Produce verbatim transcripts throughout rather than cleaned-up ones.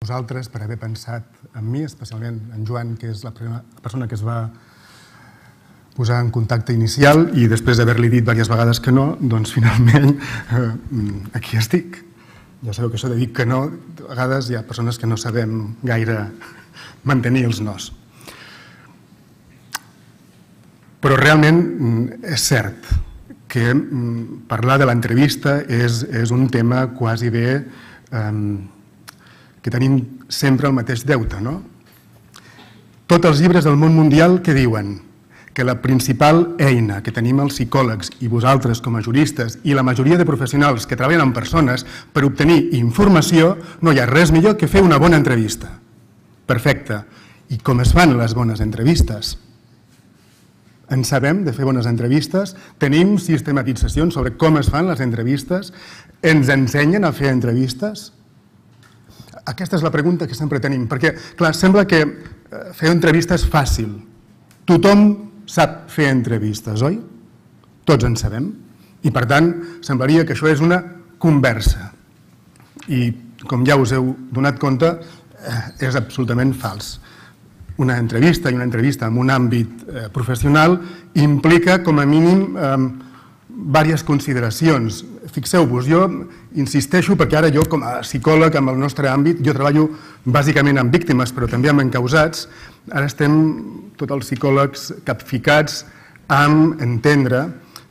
vosaltres per haver pensat en mi, especialment en Joan, que és la persona que es va posar en contacte inicial i després d'haver-li dit diverses vegades que no, doncs finalment aquí estic. Ja sabeu que això de dir que no, a vegades hi ha persones que no sabem gaire mantenir els nos. Però realment és cert que parlar de l'entrevista és un tema quasi bé que tenim sempre el mateix deute, no? Tots els llibres del món mundial que diuen que la principal eina que tenim els psicòlegs i vosaltres com a juristes i la majoria de professionals que treballen amb persones per obtenir informació, no hi ha res millor que fer una bona entrevista. Perfecte. I com es fan les bones entrevistes? En sabem de fer bones entrevistes? Tenim sistematitzacions sobre com es fan les entrevistes? Ens ensenyen a fer entrevistes? Aquesta és la pregunta que sempre tenim, perquè, clar, sembla que fer entrevistes és fàcil. Tothom sap fer entrevistes, oi? Tots en sabem. I, per tant, semblaria que això és una conversa. I, com ja us heu donat compte, és absolutament fals. Una entrevista i una entrevista en un àmbit professional implica, com a mínim, diverses consideracions. Fixeu-vos, jo insisteixo perquè ara jo com a psicòleg en el nostre àmbit, jo treballo bàsicament amb víctimes però també amb encausats, ara estem tots els psicòlegs capficats amb entendre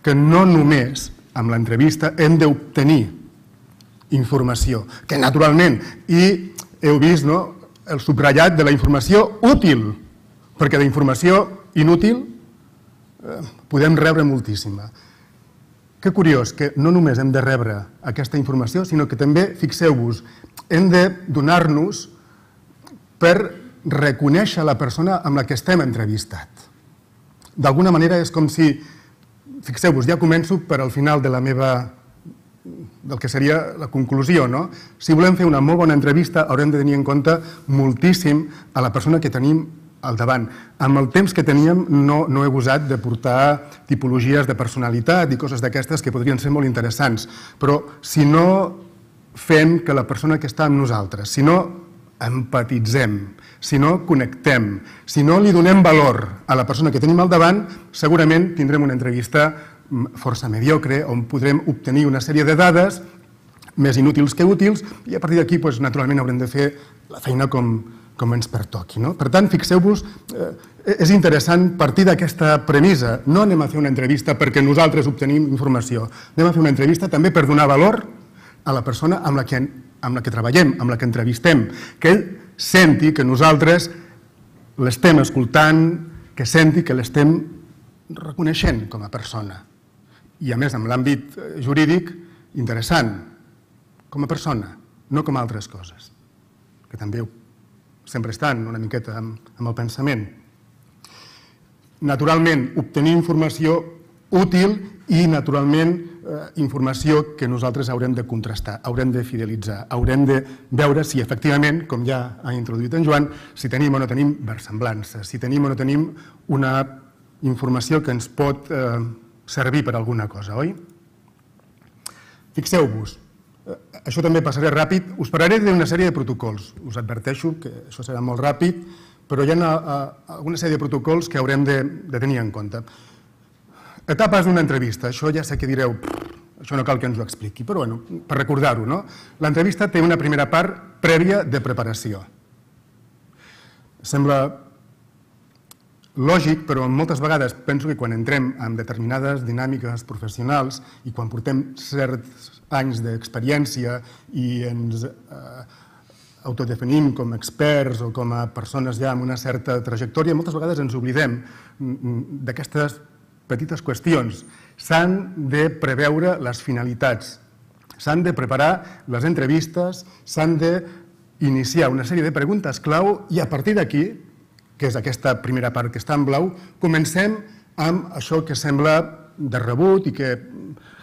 que no només amb l'entrevista hem d'obtenir informació, que naturalment, i heu vist el subratllat de la informació útil, perquè d'informació inútil podem rebre moltíssima. Que curiós que no només hem de rebre aquesta informació, sinó que també, fixeu-vos, hem de donar-nos per reconèixer la persona amb la que estem entrevistat. D'alguna manera és com si, fixeu-vos, ja començo per al final de la meva, del que seria la conclusió, no? Si volem fer una molt bona entrevista haurem de tenir en compte moltíssim a la persona que tenim al davant. Amb el temps que teníem no he gosat de portar tipologies de personalitat i coses d'aquestes que podrien ser molt interessants, però si no fem que la persona que està amb nosaltres, si no empatitzem, si no connectem, si no li donem valor a la persona que tenim al davant, segurament tindrem una entrevista força mediocre on podrem obtenir una sèrie de dades més inútils que útils i a partir d'aquí, naturalment, haurem de fer la feina com com ens pertoqui. Per tant, fixeu-vos, és interessant partir d'aquesta premissa. No anem a fer una entrevista perquè nosaltres obtenim informació. Anem a fer una entrevista també per donar valor a la persona amb la que treballem, amb la que entrevistem, que ell senti que nosaltres l'estem escoltant, que senti que l'estem reconeixent com a persona. I a més, en l'àmbit jurídic, interessant, com a persona, no com a altres coses, que també sempre estan una miqueta amb el pensament. Naturalment, obtenir informació útil i, naturalment, informació que nosaltres haurem de contrastar, haurem de fidelitzar, haurem de veure si, efectivament, com ja ha introduït en Joan, si tenim o no tenim versemblances, si tenim o no tenim una informació que ens pot servir per alguna cosa, oi? Fixeu-vos, això també passaré ràpid, us parlaré d'una sèrie de protocols, us adverteixo que això serà molt ràpid, però hi ha alguna sèrie de protocols que haurem de tenir en compte. Etapes d'una entrevista, això ja sé que direu, això no cal que ens ho expliqui, però per recordar-ho, no? L'entrevista té una primera part prèvia de preparació. Sembla lògic, però moltes vegades penso que quan entrem en determinades dinàmiques professionals i quan portem certs anys d'experiència i ens autodefinim com a experts o com a persones ja amb una certa trajectòria, moltes vegades ens oblidem d'aquestes petites qüestions. S'han de preveure les finalitats, s'han de preparar les entrevistes, s'han d'iniciar una sèrie de preguntes clau i a partir d'aquí, que és aquesta primera part que està en blau, comencem amb això que sembla de rebut i que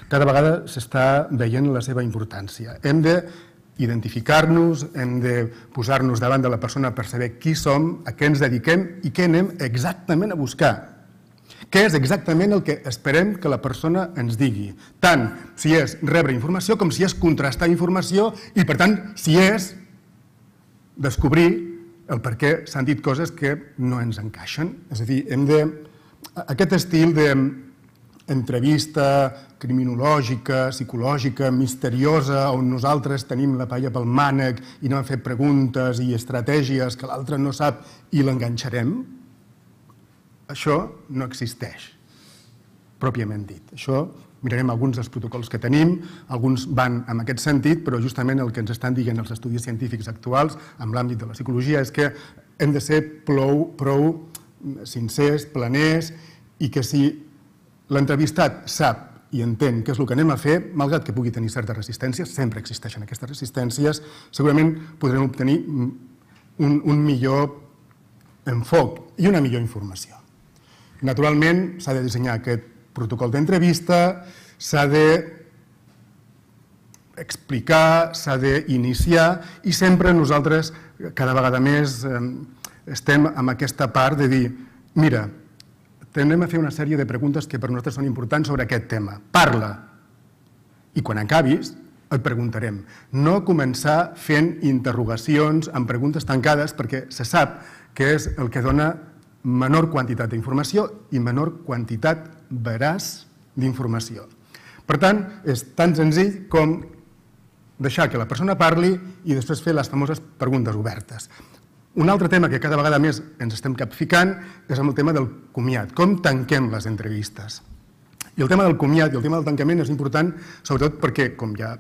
cada vegada s'està veient la seva importància. Hem d'identificar-nos, hem de posar-nos davant de la persona per saber qui som, a què ens dediquem i què anem exactament a buscar. Què és exactament el que esperem que la persona ens digui, tant si és rebre informació com si és contrastar informació i, per tant, si és descobrir el per què s'han dit coses que no ens encaixen. És a dir, hem de... Aquest estil d'entrevista criminològica, psicològica, misteriosa, on nosaltres tenim la palla pel mànec i anem a fer preguntes i estratègies que l'altre no sap i l'enganxarem, això no existeix, pròpiament dit. Això, mirarem alguns dels protocols que tenim, alguns van en aquest sentit, però justament el que ens estan dient els estudis científics actuals en l'àmbit de la psicologia és que hem de ser prou, prou sincers, planers, i que si l'entrevistat sap i entén què és el que anem a fer, malgrat que pugui tenir certes resistències, sempre existeixen aquestes resistències, segurament podrem obtenir un, un millor enfoc i una millor informació. Naturalment, s'ha de dissenyar aquest protocol d'entrevista, s'ha d'explicar, s'ha d'iniciar i sempre nosaltres, cada vegada més, estem en aquesta part de dir, mira, tendrem a fer una sèrie de preguntes que per nosaltres són importants sobre aquest tema. Parla! I quan acabis, et preguntarem. No començar fent interrogacions amb preguntes tancades perquè se sap que és el que dona menor quantitat d'informació i menor quantitat veraç d'informació. Per tant, és tan senzill com deixar que la persona parli i després fer les famoses preguntes obertes. Un altre tema que cada vegada més ens estem capficant és el tema del comiat. Com tanquem les entrevistes? I el tema del comiat i el tema del tancament és important, sobretot perquè, com ja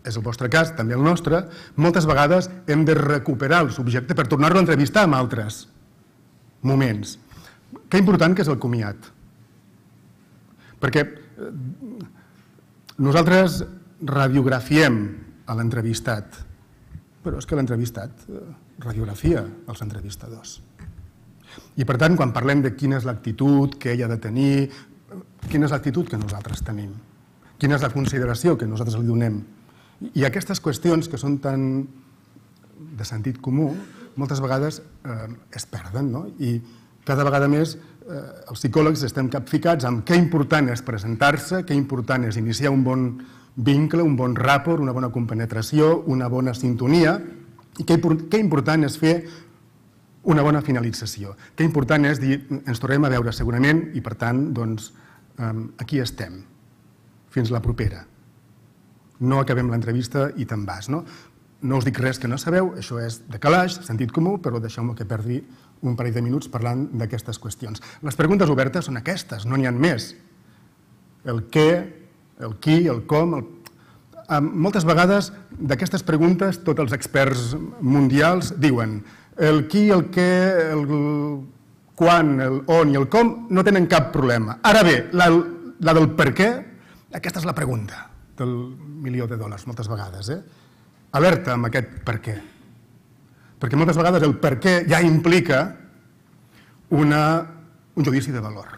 és el vostre cas, també el nostre, moltes vegades hem de recuperar el subjecte per tornar-lo a entrevistar en altres moments. Que important que és el comiat. Perquè nosaltres radiografiem a l'entrevistat, però és que l'entrevistat radiografia els entrevistadors. I per tant, quan parlem de quina és l'actitud que ell ha de tenir, quina és l'actitud que nosaltres tenim, quina és la consideració que nosaltres li donem. I aquestes qüestions que són tan de sentit comú, moltes vegades es perden, no? I cada vegada més els psicòlegs estem capficats amb què important és presentar-se, què important és iniciar un bon vincle, un bon rapport, una bona compenetració, una bona sintonia, i què important és fer una bona finalització. Què important és dir, ens tornem a veure segurament i, per tant, doncs, aquí estem, fins la propera. No acabem l'entrevista i te'n vas, no? No us dic res que no sabeu, això és de calaix, sentit comú, però deixeu-me que perdi un parell de minuts parlant d'aquestes qüestions. Les preguntes obertes són aquestes, no n'hi ha més. El què, el qui, el com... Moltes vegades d'aquestes preguntes tots els experts mundials diuen el qui, el què, el quan, el on i el com no tenen cap problema. Ara bé, la, la del per què, aquesta és la pregunta del milió de dòlars moltes vegades. Eh? Alerta amb aquest per què. Perquè moltes vegades el per què ja implica una, un judici de valor.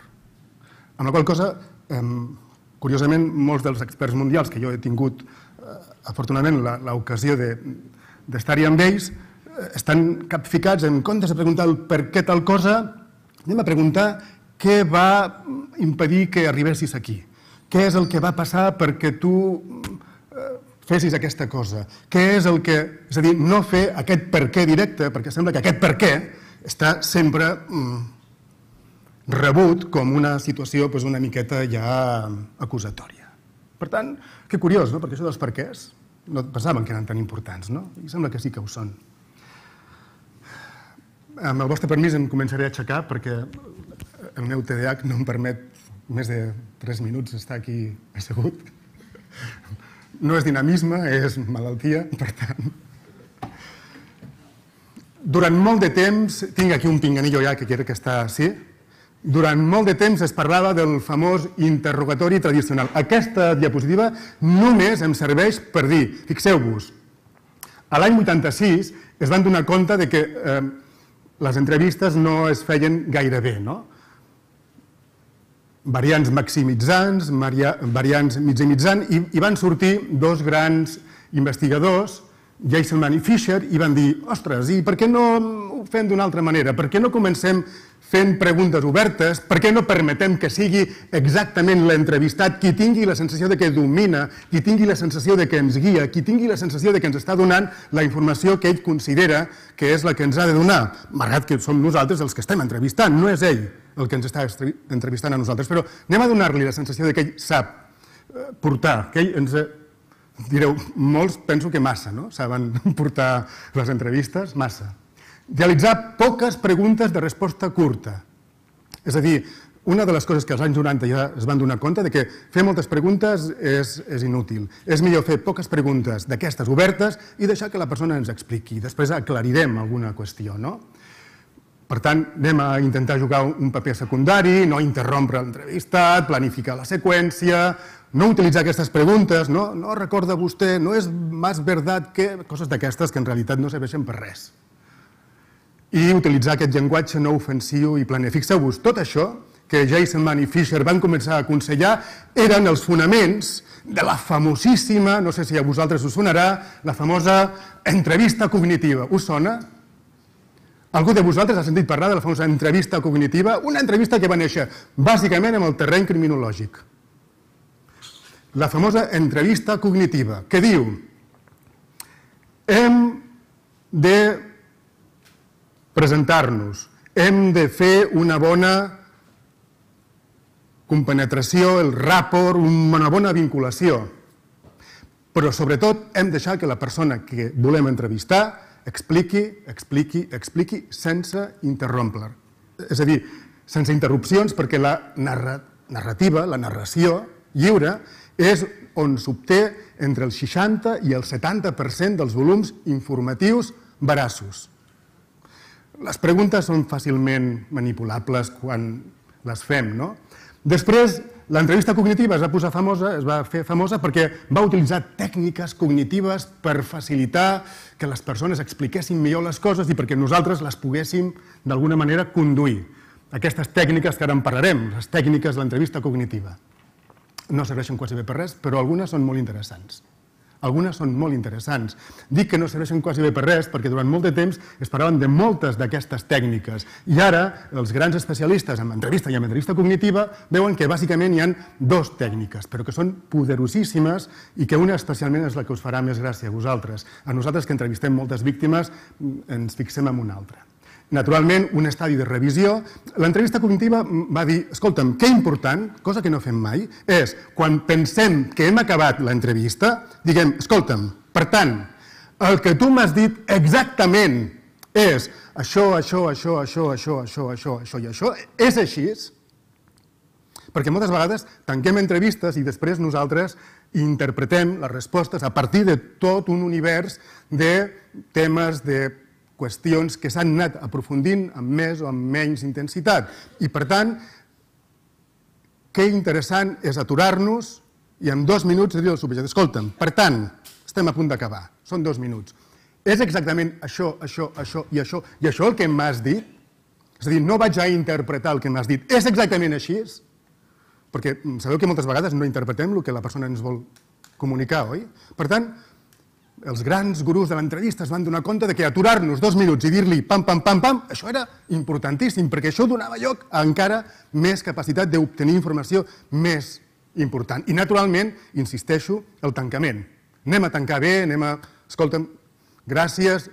Amb la qual cosa, eh, curiosament, molts dels experts mundials que jo he tingut, eh, afortunadament, l'ocasió d'estar-hi amb ells, eh, estan capficats en comptes de preguntar el per què tal cosa, anem a preguntar què va impedir que arribessis aquí. Què és el que va passar perquè tu eh, fessis aquesta cosa? Què és el que... És a dir, no fer aquest per què directe, perquè sembla que aquest per què està sempre... Mm, rebut com una situació una miqueta ja acusatòria. Per tant, que curiós, no? Perquè això dels perquès no pensaven que eren tan importants, no? I sembla que sí que ho són. Amb el vostre permís em començaré a aixecar perquè el meu T D A H no em permet més de tres minuts estar aquí assegut. No és dinamisme, és malaltia, per tant... Durant molt de temps, tinc aquí un pinganillo ja que crec que està així, durant molt de temps es parlava del famós interrogatori tradicional. Aquesta diapositiva només em serveix per dir, fixeu-vos, a l'any vuitanta-sis es van donar compte de que eh, les entrevistes no es feien gaire bé, no? Variants maximitzants, variants migimitzant, i, i van sortir dos grans investigadors Geiselman i Fisher i van dir, ostres, i per què no ho fem d'una altra manera? Per què no comencem fent preguntes obertes? Per què no permetem que sigui exactament l'entrevistat qui tingui la sensació de que domina, qui tingui la sensació de que ens guia, qui tingui la sensació de que ens està donant la informació que ell considera que és la que ens ha de donar, malgrat que som nosaltres els que estem entrevistant, no és ell el que ens està entrevistant a nosaltres, però anem a donar-li la sensació de que ell sap portar, que ell ens... Direu, molts penso que massa, no? Saben portar les entrevistes, massa. Realitzar poques preguntes de resposta curta. És a dir, una de les coses que als anys noranta ja es van donar compte de que fer moltes preguntes és, és inútil. És millor fer poques preguntes d'aquestes obertes i deixar que la persona ens expliqui. Després aclarirem alguna qüestió, no? Per tant, anem a intentar jugar un paper secundari, no interrompre l'entrevistat, planificar la seqüència, no utilitzar aquestes preguntes, no, no recorda vostè, no és més verdad que... Coses d'aquestes que en realitat no serveixen per res. I utilitzar aquest llenguatge no ofensiu i planer. Fixeu-vos, tot això que Geiselman i Fisher van començar a aconsellar eren els fonaments de la famosíssima, no sé si a vosaltres us sonarà, la famosa entrevista cognitiva. Us sona? Algú de vosaltres ha sentit parlar de la famosa entrevista cognitiva? Una entrevista que va néixer bàsicament en el terreny criminològic. La famosa entrevista cognitiva, que diu: hem de presentar-nos, hem de fer una bona compenetració, el rapport, una bona vinculació, però sobretot hem de deixar que la persona que volem entrevistar expliqui, expliqui, expliqui sense interrompre. És a dir, sense interrupcions, perquè la narrativa, la narració lliure, és on s'obté entre el seixanta i el setanta per cent dels volums informatius veraços. Les preguntes són fàcilment manipulables quan les fem, no? Després, l'entrevista cognitiva es va posar famosa, es va fer famosa perquè va utilitzar tècniques cognitives per facilitar que les persones expliquessin millor les coses i perquè nosaltres les poguéssim d'alguna manera conduir. Aquestes tècniques que ara en parlarem, les tècniques de l'entrevista cognitiva, no serveixen quasi bé per res, però algunes són molt interessants. Algunes són molt interessants. Dic que no serveixen quasi bé per res perquè durant molt de temps es parlaven de moltes d'aquestes tècniques i ara els grans especialistes en entrevista i en entrevista cognitiva veuen que bàsicament hi ha dues tècniques, però que són poderosíssimes i que una especialment és la que us farà més gràcia a vosaltres. A nosaltres que entrevistem moltes víctimes ens fixem en una altra. Naturalment, un estadi de revisió. L'entrevista cognitiva va dir, escolta'm, que important, cosa que no fem mai, és quan pensem que hem acabat l'entrevista, diguem, escolta'm, per tant, el que tu m'has dit exactament és això, això, això, això, això, això, això, això i això, és així? Perquè moltes vegades tanquem entrevistes i després nosaltres interpretem les respostes a partir de tot un univers de temes, de qüestions que s'han anat aprofundint amb més o amb menys intensitat. I, per tant, que interessant és aturar-nos i en dos minuts dir al subjecte, escolta'm, per tant, estem a punt d'acabar, són dos minuts. És exactament això, això, això i això i això el que m'has dit? És a dir, no vaig a interpretar el que m'has dit. És exactament així? Perquè sabeu que moltes vegades no interpretem el que la persona ens vol comunicar, oi? Per tant, els grans gurus de l'entrevista es van donar compte que aturar-nos dos minuts i dir-li pam, pam, pam, pam, això era importantíssim, perquè això donava lloc a encara més capacitat d'obtenir informació més important. I, naturalment, insisteixo, el tancament. Anem a tancar bé, anem a... Escolta'm, gràcies,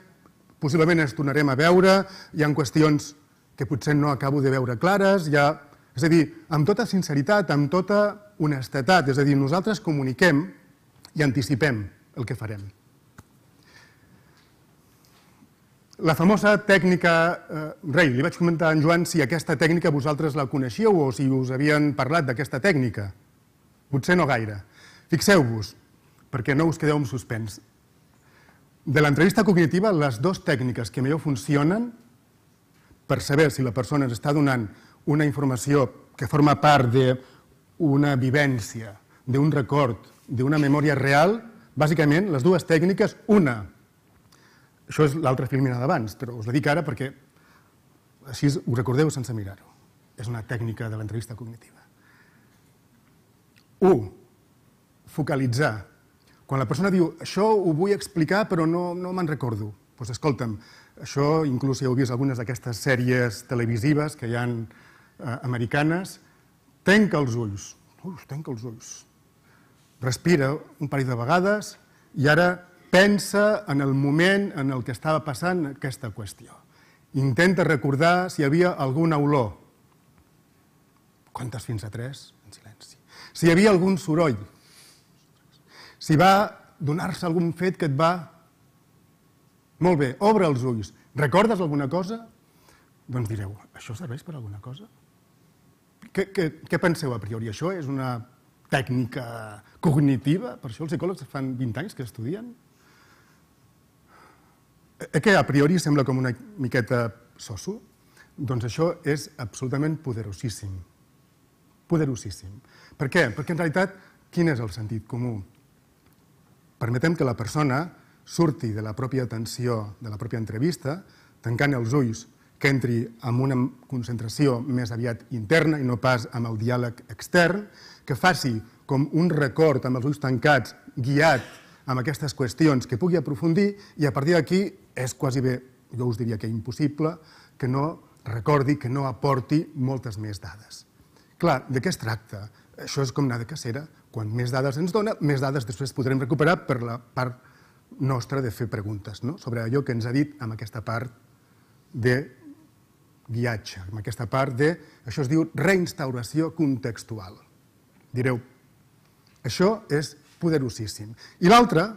possiblement ens tornarem a veure, hi ha qüestions que potser no acabo de veure clares, hi ha... És a dir, amb tota sinceritat, amb tota honestedat, és a dir, nosaltres comuniquem i anticipem el que farem. La famosa tècnica, Rei, li vaig comentar a en Joan si aquesta tècnica vosaltres la coneixíeu o si us havien parlat d'aquesta tècnica. Potser no gaire. Fixeu-vos, perquè no us quedeu en suspens. De l'entrevista cognitiva, les dues tècniques que millor funcionen per saber si la persona ens està donant una informació que forma part d'una vivència, d'un record, d'una memòria real, bàsicament, les dues tècniques, una, això és l'altra filmina d'abans, però us la dic ara perquè així ho recordeu sense mirar-ho. És una tècnica de l'entrevista cognitiva. Un, focalitzar. Quan la persona diu això ho vull explicar però no me'n recordo, doncs escolta'm, això inclús si heu vist algunes d'aquestes sèries televisives que hi ha americanes, tanca els ulls, ui, tanca els ulls, respira un parell de vegades i ara pensa en el moment en el que estava passant aquesta qüestió. Intenta recordar si hi havia alguna olor. Comptes fins a tres, en silenci. Si hi havia algun soroll. Si va donar-se algun fet que et va... Molt bé, obre els ulls. Recordes alguna cosa? Doncs direu, això serveix per alguna cosa? Què, què, què penseu a priori? Això és una tècnica cognitiva? Per això els psicòlegs fan vint anys que estudien? Eh que a priori sembla com una miqueta soso? Doncs això és absolutament poderosíssim. Poderosíssim. Per què? Perquè en realitat, quin és el sentit comú? Permetem que la persona surti de la pròpia atenció, de la pròpia entrevista, tancant els ulls, que entri en una concentració més aviat interna i no pas amb el diàleg extern, que faci com un record amb els ulls tancats, guiat amb aquestes qüestions que pugui aprofundir i a partir d'aquí és quasi bé, jo us diria que impossible, que no recordi, que no aporti moltes més dades. Clar, de què es tracta? Això és com anar de cacera. Quan més dades ens dona, més dades després podrem recuperar per la part nostra de fer preguntes sobre allò que ens ha dit amb aquesta part de guiatge, amb aquesta part de, això es diu reinstauració contextual. Direu, això és poderosíssim. I l'altre,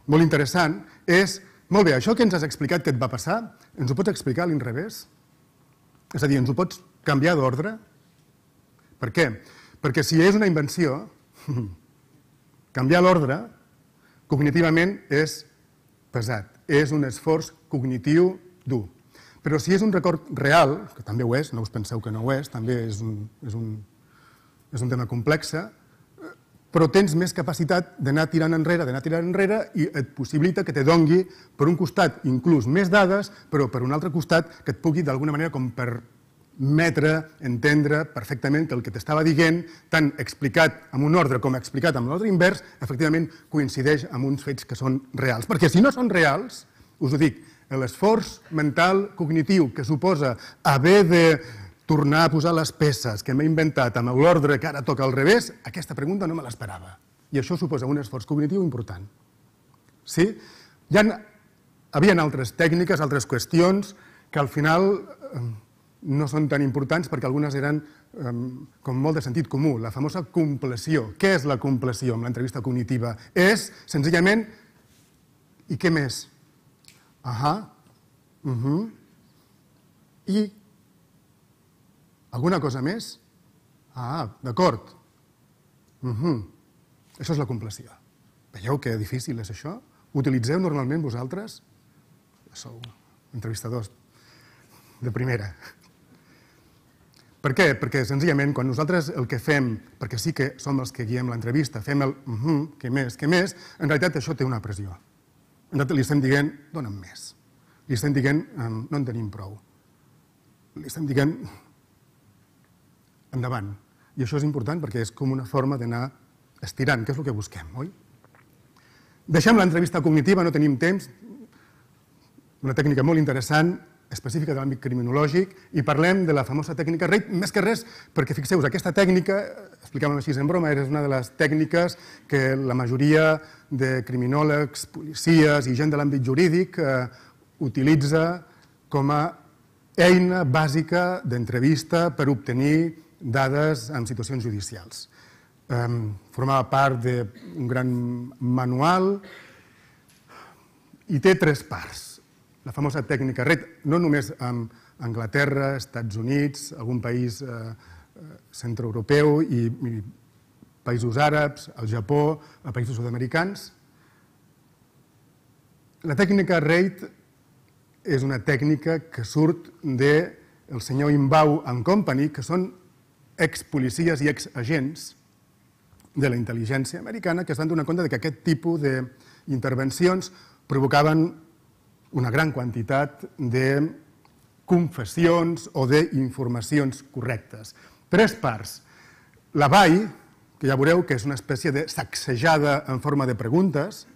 molt interessant, és, molt bé, això que ens has explicat que et va passar, ens ho pots explicar a l'inrevés? És a dir, ens ho pots canviar d'ordre? Per què? Perquè si és una invenció, canviar l'ordre cognitivament és pesat, és un esforç cognitiu dur. Però si és un record real, que també ho és, no us penseu que no ho és, també és un, és un, és un tema complex, però tens més capacitat d'anar tirant enrere, d'anar tirant enrere i et possibilita que te dongui, per un costat, inclús més dades, però per un altre costat que et pugui d'alguna manera com permetre, entendre perfectament que el que t'estava dient, tant explicat amb un ordre com explicat amb l'ordre invers, efectivament coincideix amb uns fets que són reals. Perquè si no són reals, us ho dic, l'esforç mental cognitiu que suposa haver de tornar a posar les peces que m'he inventat amb l'ordre que ara toca al revés, aquesta pregunta no me l'esperava. I això suposa un esforç cognitiu important. Sí? Hi havia altres tècniques, altres qüestions, que al final no són tan importants perquè algunes eren com molt de sentit comú. La famosa compleció. Què és la compleció amb l'entrevista cognitiva? És, senzillament, i què més? Ahà, i alguna cosa més? Ah, d'acord. Això és la compleció. Veieu que difícil és això? Utilitzeu normalment vosaltres? Sou entrevistadors de primera. Per què? Perquè senzillament quan nosaltres el que fem, perquè sí que som els que guiem l'entrevista, fem el què més, què més, en realitat això té una pressió. Li estem dient, dona'm més. Li estem dient, no en tenim prou. Li estem dient, endavant. I això és important perquè és com una forma d'anar estirant, que és el que busquem, oi? Deixem l'entrevista cognitiva, no tenim temps, una tècnica molt interessant, específica de l'àmbit criminològic, i parlem de la famosa tècnica RAID, més que res perquè, fixeu-vos, aquesta tècnica, explicàvem així en broma, és una de les tècniques que la majoria de criminòlegs, policies i gent de l'àmbit jurídic utilitza com a eina bàsica d'entrevista per obtenir dades en situacions judicials. Formava part d'un gran manual i té tres parts. La famosa tècnica RAID, no només amb Anglaterra, Estats Units, algun país centroeuropeu i països àrabs, el Japó, països sud-americans. La tècnica RAID és una tècnica que surt del senyor Inbau and Company, que són expolicies i exagents de la intel·ligència americana que es van donar compte que aquest tipus d'intervencions provocaven una gran quantitat de confessions o d'informacions correctes. Tres parts. La B A I, que ja veureu que és una espècie de sacsejada en forma de preguntes,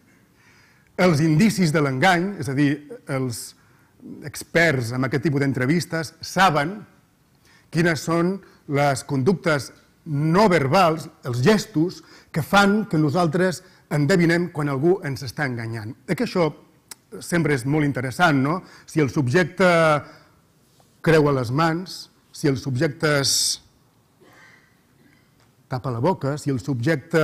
els indicis de l'engany, és a dir, els experts en aquest tipus d'entrevistes saben quines són les conductes no verbals, els gestos, que fan que nosaltres endevinem quan algú ens està enganyant. Eh que això sempre és molt interessant, no? Si el subjecte creua les mans, si el subjecte es tapa la boca, si el subjecte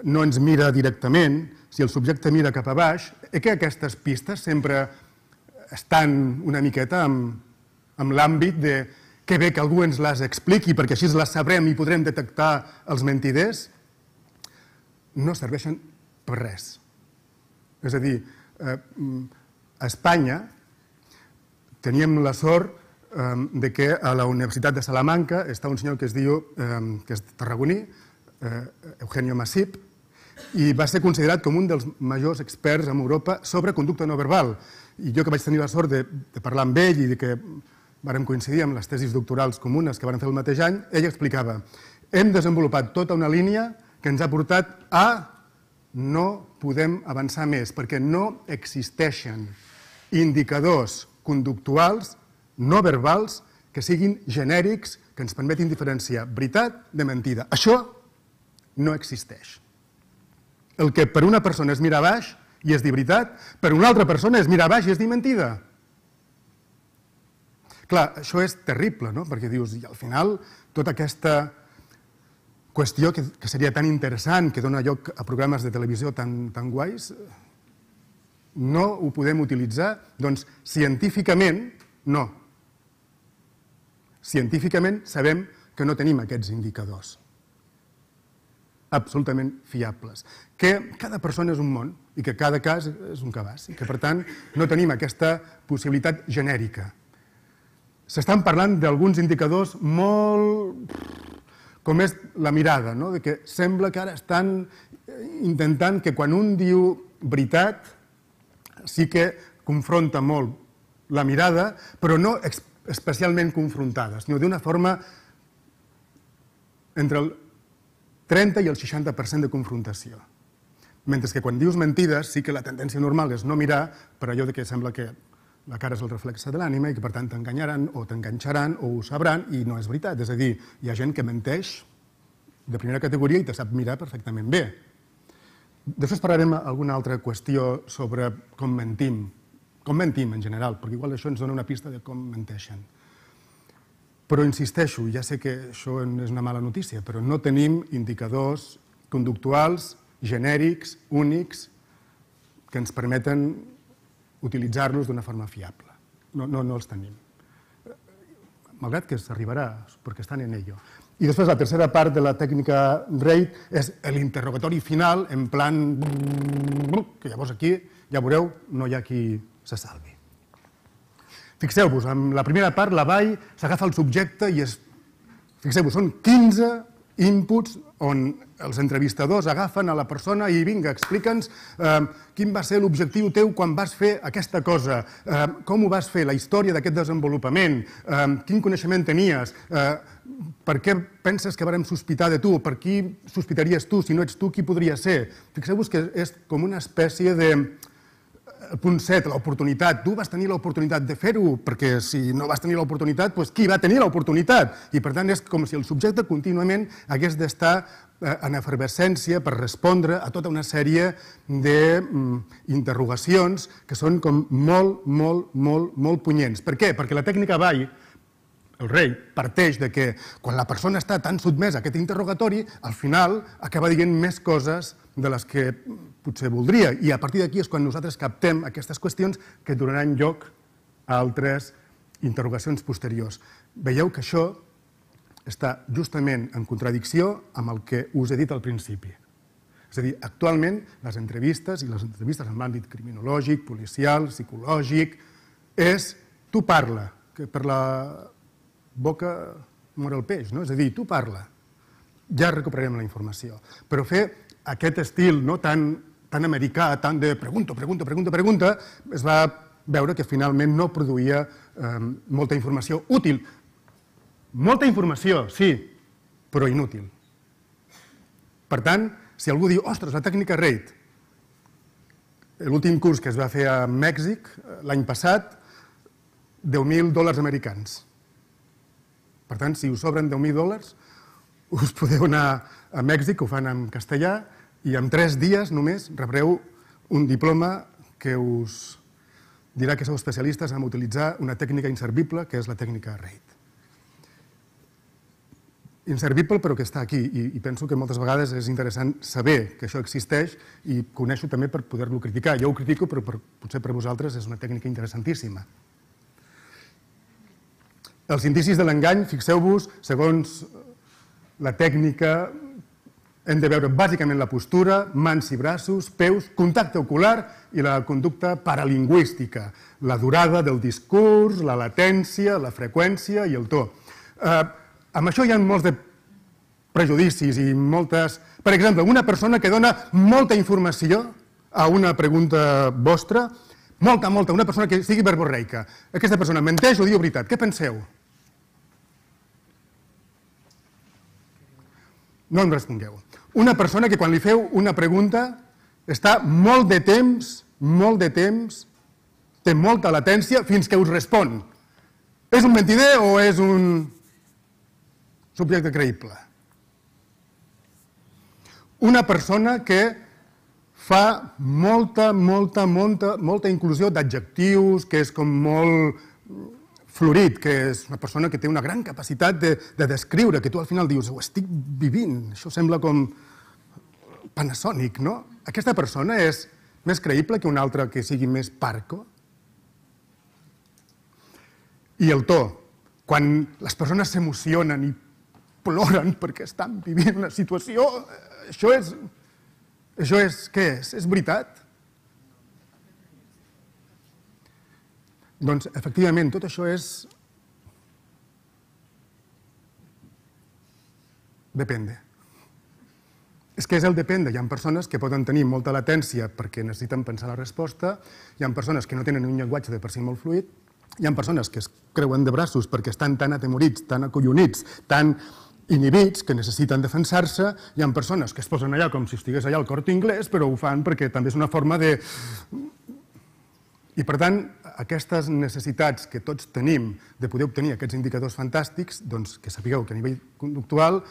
no ens mira directament, si el subjecte mira cap a baix, eh que aquestes pistes sempre estan una miqueta amb, amb l'àmbit de que bé que algú ens les expliqui perquè així les sabrem i podrem detectar els mentiders, no serveixen per res. És a dir, eh, a Espanya teníem la sort eh, de que a la Universitat de Salamanca està un senyor que es diu, eh, que és tarragoní, eh, Eugenio Masip, i va ser considerat com un dels majors experts en Europa sobre conducta no verbal. I jo que vaig tenir la sort de, de parlar amb ell i de que vàrem coincidir amb les tesis doctorals comunes que van fer el mateix any, ell explicava: hem desenvolupat tota una línia que ens ha portat a no podem avançar més, perquè no existeixen indicadors conductuals no verbals que siguin genèrics, que ens permetin diferenciar veritat de mentida. Això no existeix. El que per una persona és mirar baix i és dir veritat, per una altra persona és mirar baix i és dir mentida. Clar, això és terrible, no? Perquè dius, i al final, tota aquesta qüestió que, que seria tan interessant, que dona lloc a programes de televisió tan, tan guais, no ho podem utilitzar? Doncs científicament, no. Científicament sabem que no tenim aquests indicadors absolutament fiables, que cada persona és un món i que cada cas és un cabàs i que, per tant, no tenim aquesta possibilitat genèrica. S'estan parlant d'alguns indicadors molt... com és la mirada, no? De que sembla que ara estan intentant que quan un diu veritat sí que confronta molt la mirada, però no especialment confrontada, sinó d'una forma entre el trenta i el seixanta per cent de confrontació. Mentre que quan dius mentides sí que la tendència normal és no mirar per allò que sembla que la cara és el reflexe de l'ànima i que per tant t'enganyaran o t'enganxaran o ho sabran i no és veritat. És a dir, hi ha gent que menteix de primera categoria i te sap mirar perfectament bé. Després parlarem alguna altra qüestió sobre com mentim, com mentim en general, perquè igual això ens dona una pista de com menteixen. Però insisteixo, ja sé que això és una mala notícia, però no tenim indicadors conductuals, genèrics, únics, que ens permeten utilitzar-los d'una forma fiable. No, no, no els tenim. Malgrat que s'arribarà, perquè estan en ello. I després la tercera part de la tècnica RAID és l'interrogatori final, en plan... que llavors aquí, ja veureu, no hi ha qui se salvi. Fixeu-vos, en la primera part la Vall s'agafa el subjecte i és... Fixeu-vos, són quinze inputs on els entrevistadors agafen a la persona i vinga, explica'ns eh, quin va ser l'objectiu teu quan vas fer aquesta cosa, eh, com ho vas fer, la història d'aquest desenvolupament, eh, quin coneixement tenies, eh, per què penses que vàrem sospitar de tu, per qui sospitaries tu, si no ets tu, qui podria ser? Fixeu-vos que és com una espècie de... El punt set, l'oportunitat. Tu vas tenir l'oportunitat de fer-ho, perquè si no vas tenir l'oportunitat, doncs qui va tenir l'oportunitat? I per tant és com si el subjecte contínuament hagués d'estar en efervescència per respondre a tota una sèrie d'interrogacions que són com molt, molt, molt, molt punyents. Per què? Perquè la tècnica Vall, el rei, parteix de que quan la persona està tan sotmesa a aquest interrogatori, al final acaba dient més coses de les que potser voldria. I a partir d'aquí és quan nosaltres captem aquestes qüestions que donaran lloc a altres interrogacions posteriors. Veieu que això està justament en contradicció amb el que us he dit al principi. És a dir, actualment les entrevistes, i les entrevistes en l'àmbit criminològic, policial, psicològic, és tu parla, que per la boca mor el peix, no? És a dir, tu parla, ja recuperarem la informació. Però fer aquest estil no, tan, tan americà, tan de pregunta, pregunta, pregunta, pregunta, es va veure que finalment no produïa eh, molta informació útil. Molta informació, sí, però inútil. Per tant, si algú diu, ostres, la tècnica RAID, l'últim curs que es va fer a Mèxic l'any passat, deu mil dòlars americans. Per tant, si us sobren deu mil dòlars, us podeu anar a Mèxic, ho fan en castellà, i en tres dies només rebreu un diploma que us dirà que sou especialistes en utilitzar una tècnica inservible, que és la tècnica RAID. Inservible, però que està aquí, i penso que moltes vegades és interessant saber que això existeix i conèixer-ho també per poder-lo criticar. Jo ho critico, però potser per vosaltres és una tècnica interessantíssima. Els indicis de l'engany, fixeu-vos, segons la tècnica, hem de veure bàsicament la postura, mans i braços, peus, contacte ocular i la conducta paralingüística, la durada del discurs, la latència, la freqüència i el to. Amb això hi ha molts de prejudicis i moltes... Per exemple, una persona que dona molta informació a una pregunta vostra, molta, molta, una persona que sigui verborreica. Aquesta persona menteix o diu veritat. Què penseu? No em respongueu. Una persona que quan li feu una pregunta està molt de temps, molt de temps, té molta latència fins que us respon. És un mentider o és un subjecte creïble? Una persona que fa molta, molta, molta, molta inclusió d'adjectius, que és com molt florit, que és una persona que té una gran capacitat de, de descriure, que tu al final dius, ho estic vivint, això sembla com Panasonic, no? Aquesta persona és més creïble que una altra que sigui més parco? I el to. Quan les persones s'emocionen i ploren perquè estan vivint una situació, això és... Això és... Què és? És veritat? Doncs, efectivament, tot això és... Depende. És que és el depende. Hi ha persones que poden tenir molta latència perquè necessiten pensar la resposta, hi ha persones que no tenen un llenguatge de per si molt fluid, hi ha persones que es creuen de braços perquè estan tan atemorits, tan acollonits, tan inhibits, que necessiten defensar-se, hi ha persones que es posen allà com si estigués allà al Corte Inglés, però ho fan perquè també és una forma de... I per tant, aquestes necessitats que tots tenim de poder obtenir aquests indicadors fantàstics, doncs que sapigueu que a nivell conductual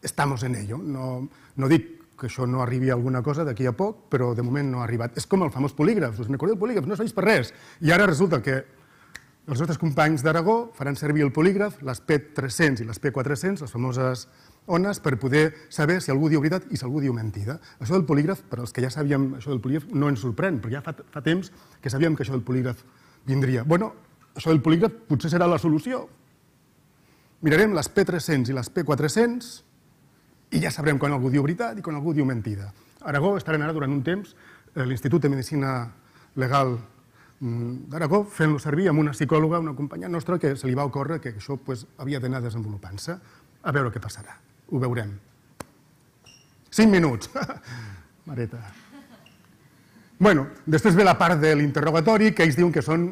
estamos en ello. No, no dic que això no arribi a alguna cosa d'aquí a poc, però de moment no ha arribat. És com el famós polígraf, us recordeu el polígraf, no serveix per res. I ara resulta que els nostres companys d'Aragó faran servir el polígraf, les P tres-cents i les P quatre-cents, les famoses ones, per poder saber si algú diu veritat i si algú diu mentida. Això del polígraf, per als que ja sabíem això del polígraf, no ens sorprèn, perquè ja fa, fa temps que sabíem que això del polígraf vindria. Bueno, això del polígraf potser serà la solució. Mirarem les P tres-cents i les P quatre-cents i ja sabrem quan algú diu veritat i quan algú diu mentida. A Aragó estarem ara durant un temps l'Institut de Medicina Legal d'Aragó fent-lo servir amb una psicòloga, una companya nostra, que se li va ocórrer que això havia d'anar desenvolupant-se. A veure què passarà. Ho veurem. Cinc minuts. Mareta. Bueno, després ve la part de l'interrogatori, que ells diuen que són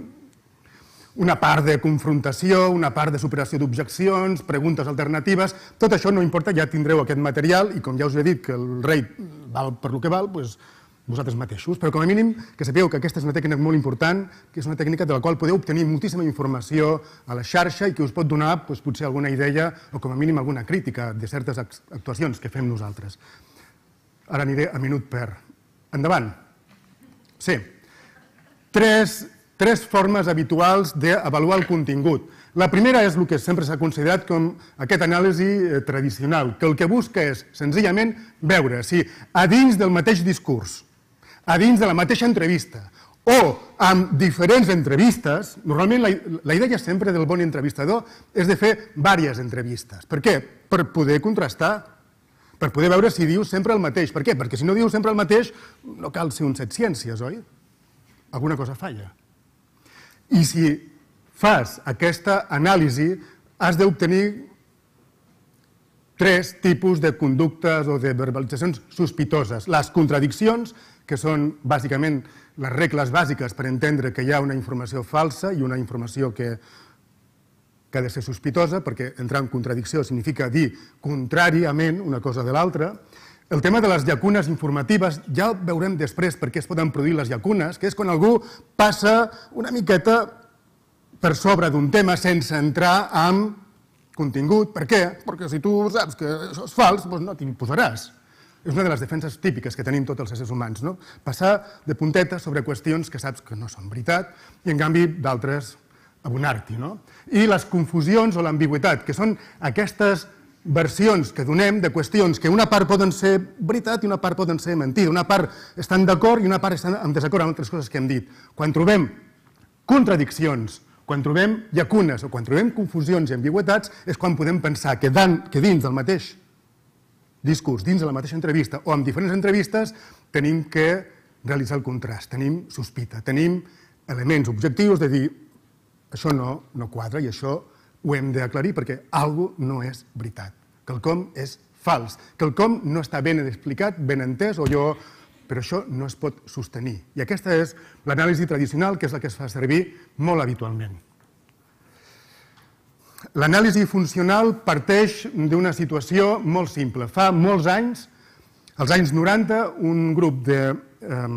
una part de confrontació, una part de superació d'objeccions, preguntes alternatives. Tot això no importa, ja tindreu aquest material i com ja us he dit que el rei val per lo que val, doncs vosaltres mateixos, però com a mínim que sapigueu que aquesta és una tècnica molt important, que és una tècnica de la qual podeu obtenir moltíssima informació a la xarxa i que us pot donar potser alguna idea o com a mínim alguna crítica de certes actuacions que fem nosaltres. Ara aniré a minut per... Endavant. Sí. Tres, tres formes habituals d'avaluar el contingut. La primera és el que sempre s'ha considerat com aquest anàlisi tradicional, que el que busca és senzillament veure si a dins del mateix discurs, a dins de la mateixa entrevista o amb diferents entrevistes, normalment la idea sempre del bon entrevistador és de fer diverses entrevistes. Per què? Per poder contrastar, per poder veure si diu sempre el mateix. Per què? Perquè si no diu sempre el mateix no cal ser un set ciències, oi? Alguna cosa falla. I si fas aquesta anàlisi, has d'obtenir tres tipus de conductes o de verbalitzacions sospitoses. Les contradiccions, que són bàsicament les regles bàsiques per entendre que hi ha una informació falsa i una informació que, que ha de ser sospitosa, perquè entrar en contradicció significa dir contràriament una cosa de l'altra. El tema de les llacunes informatives ja el veurem després per què es poden produir les llacunes, que és quan algú passa una miqueta per sobre d'un tema sense entrar en contingut. Per què? Perquè si tu saps que això és fals, doncs no t'hi posaràs. És una de les defenses típiques que tenim tots els éssers humans, no? Passar de punteta sobre qüestions que saps que no són veritat i, en canvi, d'altres abonar-t'hi, no? I les confusions o l'ambigüitat, que són aquestes versions que donem de qüestions que una part poden ser veritat i una part poden ser mentida. Una part estan d'acord i una part estan en desacord amb altres coses que hem dit. Quan trobem contradiccions, quan trobem llacunes o quan trobem confusions i ambigüitats és quan podem pensar que dins del mateix discurs, dins de la mateixa entrevista o en diferents entrevistes tenim que realitzar el contrast, tenim sospita, tenim elements objectius de dir això no, no quadra i això ho hem d'aclarir perquè alguna cosa no és veritat. Quelcom és fals. Quelcom no està ben explicat, ben entès, o jo... però això no es pot sostenir. I aquesta és l'anàlisi tradicional, que és la que es fa servir molt habitualment. L'anàlisi funcional parteix d'una situació molt simple. Fa molts anys, als anys noranta, un grup de eh,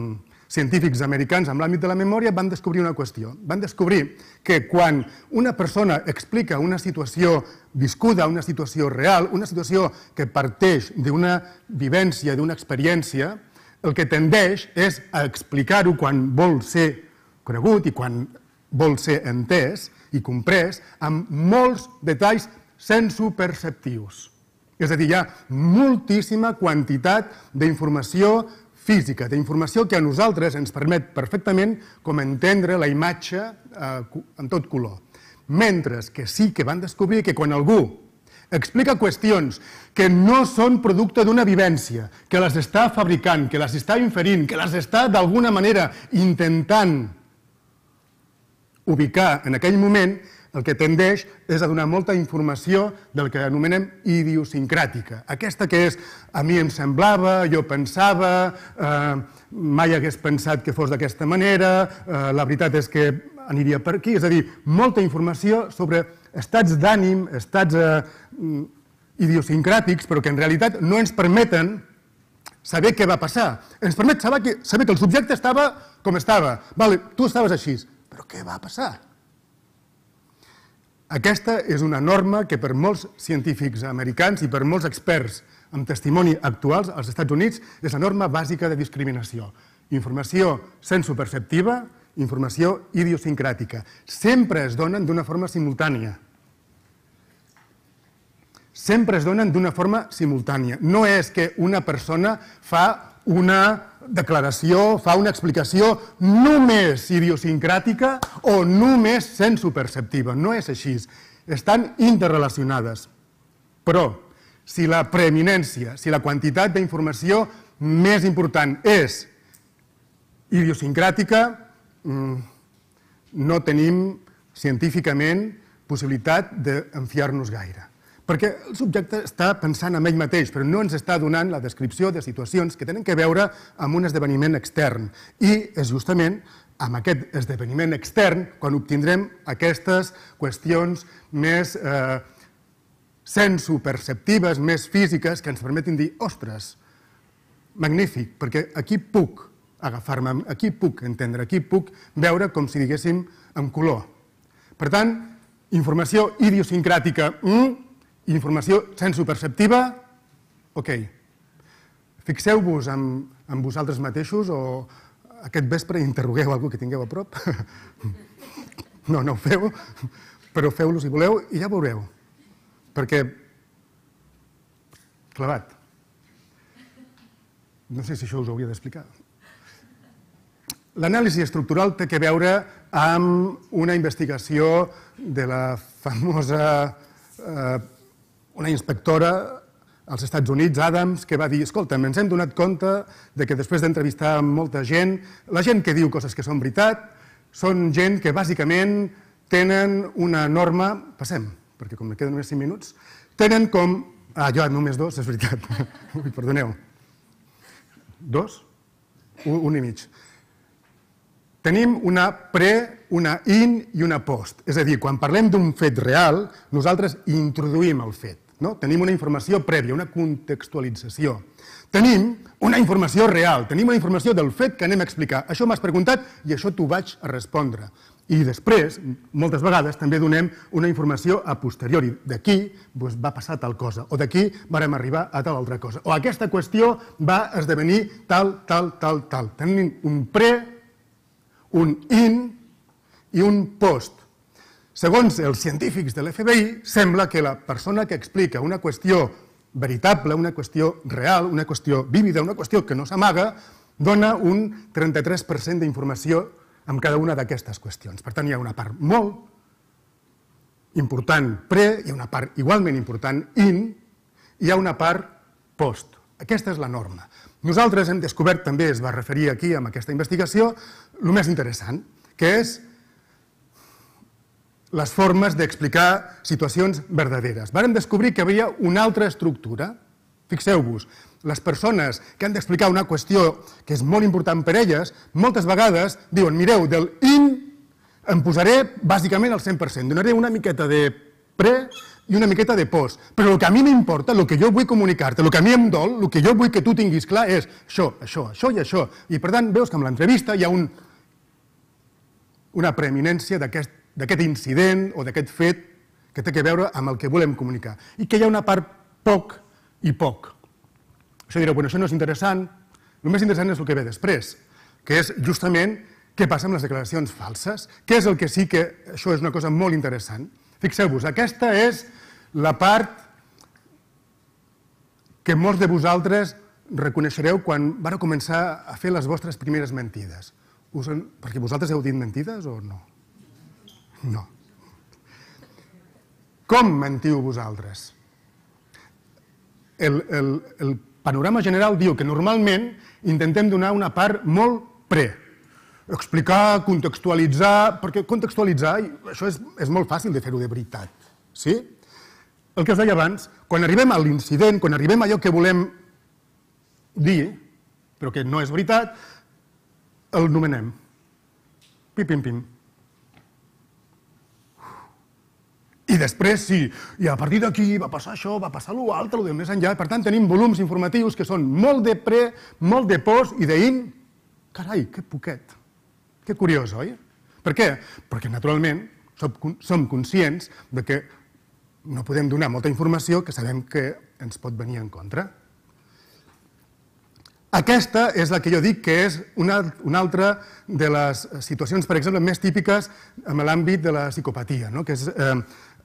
científics americans en l'àmbit de la memòria van descobrir una qüestió. Van descobrir que quan una persona explica una situació viscuda, una situació real, una situació que parteix d'una vivència, d'una experiència, el que tendeix és a explicar-ho quan vol ser conegut i quan vol ser entès i comprès amb molts detalls sensoperceptius. És a dir, hi ha moltíssima quantitat d'informació física, d'informació que a nosaltres ens permet perfectament com entendre la imatge en tot color. Mentre que sí que van descobrir que quan algú explica qüestions que no són producte d'una vivència, que les està fabricant, que les està inferint, que les està d'alguna manera intentant ubicar en aquell moment, el que tendeix és a donar molta informació del que anomenem idiosincràtica. Aquesta que és, a mi em semblava, jo pensava, mai hagués pensat que fos d'aquesta manera, la veritat és que aniria per aquí. És a dir, molta informació sobre estats d'ànim, estats idiosincràtics, però que en realitat no ens permeten saber què va passar. Ens permet saber que el subjecte estava com estava. Tu estaves així, però què va passar? Aquesta és una norma que per molts científics americans i per molts experts amb testimoni actuals als Estats Units és la norma bàsica de discriminació. Informació sensoperceptiva, informació idiosincràtica. Sempre es donen d'una forma simultània. Sempre es donen d'una forma simultània. No és que una persona fa una declaració, fa una explicació només idiosincràtica o només sensoperceptiva. No és així. Estan interrelacionades. Però, si la preeminència, si la quantitat d'informació més important és idiosincràtica, no tenim científicament possibilitat d'enfiar-nos gaire. Perquè el subjecte està pensant en ell mateix, però no ens està donant la descripció de situacions que tenen que veure amb un esdeveniment extern. I és justament amb aquest esdeveniment extern quan obtindrem aquestes qüestions més sensoperceptives, més físiques, que ens permetin dir, ostres, magnífic, perquè aquí puc agafar-me, aquí puc entendre, aquí puc veure com si diguéssim en color. Per tant, informació idiosincràtica, informació sensoperceptiva, ok. Fixeu-vos en vosaltres mateixos o aquest vespre interrogueu algú que tingueu a prop. No, no ho feu, però feu-lo si voleu i ja veureu. Perquè, clavat, no sé si això us ho hauria d'explicar. L'anàlisi estructural té a veure amb una investigació de la famosa una inspectora als Estats Units, Adams, que va dir, escolta'm, ens hem donat compte que després d'entrevistar molta gent, la gent que diu coses que són veritat, són gent que bàsicament tenen una norma, passem, perquè com me queden només cinc minuts, tenen com, ah, jo només dos, és veritat, ui, perdoneu, dos? Un i mig. Tenim una pre, una in i una post. És a dir, quan parlem d'un fet real, nosaltres introduïm el fet. Tenim una informació prèvia, una contextualització. Tenim una informació real, tenim una informació del fet que anem a explicar. Això m'has preguntat i això t'ho vaig a respondre. I després, moltes vegades, també donem una informació a posteriori. D'aquí va passar tal cosa, o d'aquí vàrem arribar a tal altra cosa, o aquesta qüestió va esdevenir tal, tal, tal, tal. Tenim un pre, un in i un post. Segons els científics de l'F B I, sembla que la persona que explica una qüestió veritable, una qüestió real, una qüestió vívida, una qüestió que no s'amaga, dona un trenta-tres per cent d'informació amb cada una d'aquestes qüestions. Per tant, hi ha una part molt important pre, hi ha una part igualment important in, hi ha una part post. Aquesta és la norma. Nosaltres hem descobert, també es va referir aquí amb aquesta investigació, el més interessant, que és les formes d'explicar situacions verdaderes. Vàrem descobrir que hi havia una altra estructura. Fixeu-vos, les persones que han d'explicar una qüestió que és molt important per elles, moltes vegades diuen, mireu, del in em posaré bàsicament al cent per cent, donaré una miqueta de pre i una miqueta de post, però el que a mi m'importa, el que jo vull comunicar-te, el que a mi em dol, el que jo vull que tu tinguis clar és això, això, això i això. I per tant, veus que amb l'entrevista hi ha una preeminència d'aquest incident o d'aquest fet que té a veure amb el que volem comunicar i que hi ha una part poc i poc. Això direu, bueno, això no és interessant, el més interessant és el que ve després, que és justament què passa amb les declaracions falses, què és el que sí que això és una cosa molt interessant. Fixeu-vos, aquesta és la part que molts de vosaltres reconeixereu quan vareu començar a fer les vostres primeres mentides. Perquè vosaltres heu dit mentides o no? No. Com mentiu vosaltres? El, el, el panorama general diu que normalment intentem donar una part molt pre. Explicar, contextualitzar, perquè contextualitzar, això és, és molt fàcil de fer-ho de veritat. Sí? El que us deia abans, quan arribem a l'incident, quan arribem a allò que volem dir, però que no és veritat, el nomenem. Pim, pim, pim. I després sí, i a partir d'aquí va passar això, va passar l'altre, el de més enllà. Per tant, tenim volums informatius que són molt de pre, molt de post i d'in. Carai, que poquet. Que curiós, oi? Per què? Perquè, naturalment, som conscients que no podem donar molta informació que sabem que ens pot venir en contra. Aquesta és la que jo dic que és una altra de les situacions, per exemple, més típiques en l'àmbit de la psicopatia, que és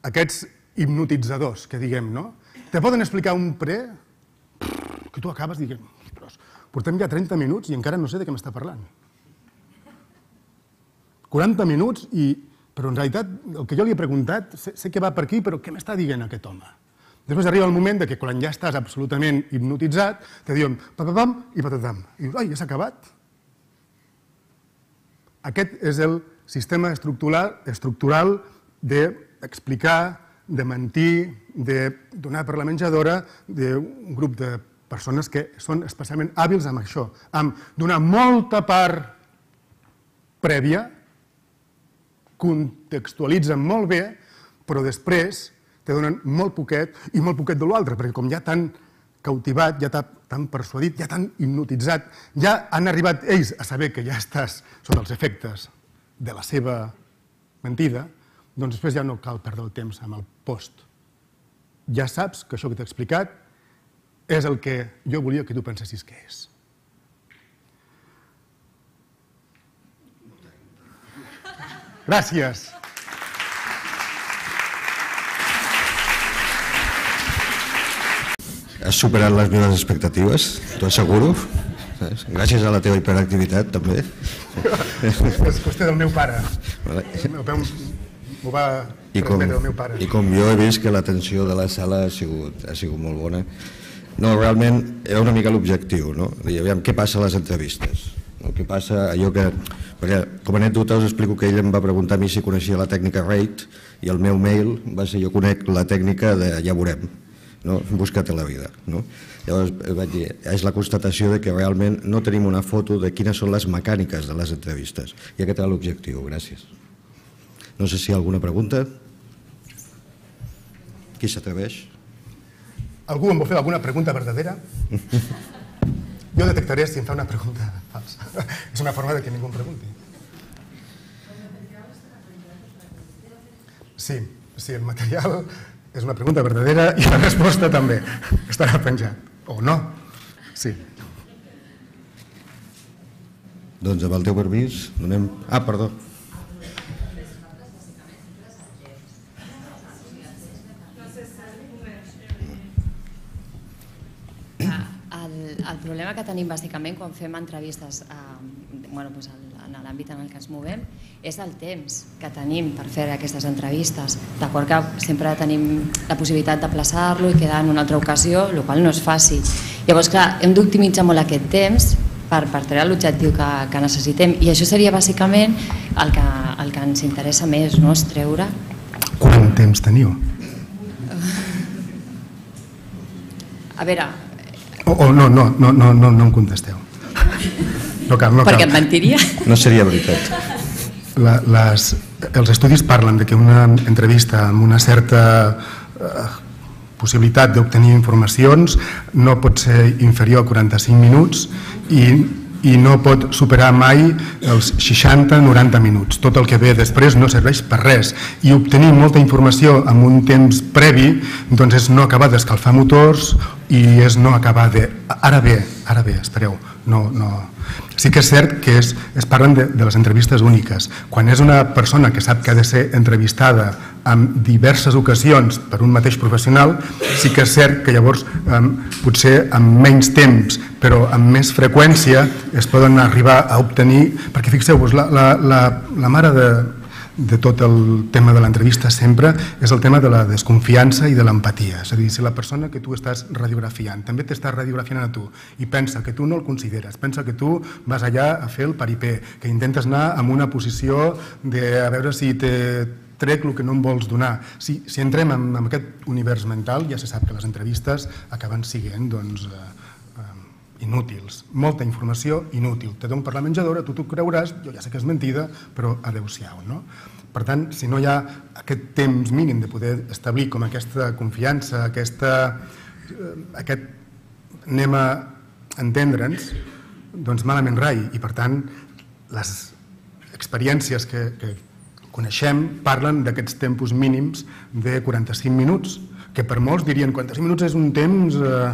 aquests hipnotitzadors, que diguem, no? Te poden explicar un pre que tu acabes dient, portem ja trenta minuts i encara no sé de què m'està parlant. quaranta minuts, però en realitat el que jo li he preguntat, sé que va per aquí, però què m'està dient aquest home? Després arriba el moment que quan ja estàs absolutament hipnotitzat, te diuen papapam i patatam. I dius, ai, ja s'ha acabat. Aquest és el sistema estructural d'explicar, de mentir, de donar per la menjadora d'un grup de persones que són especialment hàbils amb això, amb donar molta part prèvia, contextualitzen molt bé, però després te donen molt poquet i molt poquet de l'altre, perquè com ja t'han cautivat, ja t'han persuadit, ja t'han hipnotitzat, ja han arribat ells a saber que ja estàs sota els efectes de la seva mentida, doncs després ja no cal perdre el temps amb el post. Ja saps que això que t'he explicat és el que jo volia que tu pensessis que és. Gràcies. Has superat les meves expectatives, t'ho asseguro. Gràcies a la teva hiperactivitat, també. És qüestió del meu pare. M'ho va transmetre el meu pare. I com jo he vist que l'atenció de la sala ha sigut molt bona. No, realment era una mica l'objectiu, no? Aviam, què passa a les entrevistes? Què passa allò que... Perquè com a anècdota us explico que ell em va preguntar a mi si coneixia la tècnica RATE i el meu mail va ser jo conec la tècnica de ja veurem. Busca't la vida. Llavors vaig dir, és la constatació que realment no tenim una foto de quines són les mecàniques de les entrevistes. I aquest era l'objectiu. Gràcies. No sé si hi ha alguna pregunta. Qui s'atreveix? Algú em vol fer alguna pregunta verdadera? Jo detectaré si em fa una pregunta falsa. És una forma de que ningú em pregunti. Sí, sí, el material és una pregunta verdadera i la resposta també estarà penjat. O no. Sí. Doncs amb el teu permís donem... Ah, perdó. El problema que tenim bàsicament quan fem entrevistes en l'àmbit en el que ens movem és el temps que tenim per fer aquestes entrevistes. D'acord que sempre tenim la possibilitat de plaçar-lo i quedar en una altra ocasió, el qual no és fàcil. Llavors, clar, hem d'optimitzar molt aquest temps per treure l'objectiu que necessitem i això seria bàsicament el que ens interessa més, no? És treure... Quant temps teniu? A veure... Oh, no, no, no, no, no em contesteu. No cal, no cal. Perquè et mentiria. No seria veritat. La, les, els estudis parlen de que una entrevista amb una certa eh, possibilitat d'obtenir informacions no pot ser inferior a quaranta-cinc minuts i, i no pot superar mai els seixanta a noranta minuts. Tot el que ve després no serveix per res i obtenir molta informació en un temps previ doncs és no acabar d'escalfar motors i és no acabar de... Ara bé, ara bé, espereu, no... no... Sí que és cert que es, es parlen de, de les entrevistes úniques. Quan és una persona que sap que ha de ser entrevistada en diverses ocasions per un mateix professional, sí que és cert que llavors eh, potser amb menys temps però amb més freqüència es poden arribar a obtenir, perquè fixeu-vos, la, la, la, la mare de, de tot el tema de l'entrevista sempre és el tema de la desconfiança i de l'empatia. És a dir, si la persona que tu estàs radiografiant també t'estàs radiografiant a tu i pensa que tu no el consideres, pensa que tu vas allà a fer el paripé, que intentes anar en una posició de a veure si te trec el que no em vols donar. Si, si entrem en, en aquest univers mental, ja se sap que les entrevistes acaben siguent doncs, eh, eh, inútils. Molta informació inútil. Te dono per la menjadora, tu t'ho creuràs, jo ja sé que és mentida, però adeu-siau, no? Per tant, si no hi ha aquest temps mínim de poder establir com aquesta confiança, aquesta, eh, aquest anem a entendre'ns, doncs malament rai. I per tant, les experiències que, que coneixem parlen d'aquests tempos mínims de quaranta-cinc minuts, que per molts dirien quaranta-cinc minuts és un temps eh,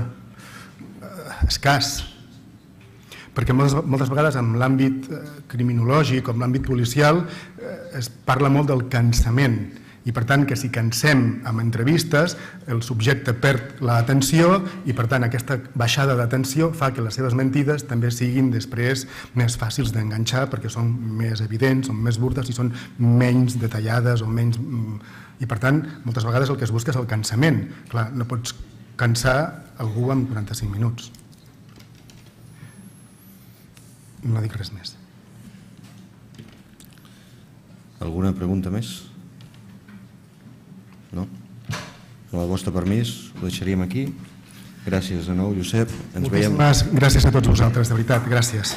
escàs, perquè moltes, moltes vegades en l'àmbit eh, criminològic o en l'àmbit policial eh, es parla molt del cansament i per tant que si cansem amb entrevistes el subjecte perd l'atenció i per tant aquesta baixada d'atenció fa que les seves mentides també siguin després més fàcils d'enganxar perquè són més evidents, són més burdes i són menys detallades o menys... i per tant moltes vegades el que es busca és el cansament. Clar, no pots cansar algú en quaranta-cinc minuts. No dic res més. Alguna pregunta més? No? Amb el vostre permís ho deixaríem aquí. Gràcies de nou, Josep. Ens veiem... Moltíssimes gràcies a tots vosaltres, de veritat. Gràcies.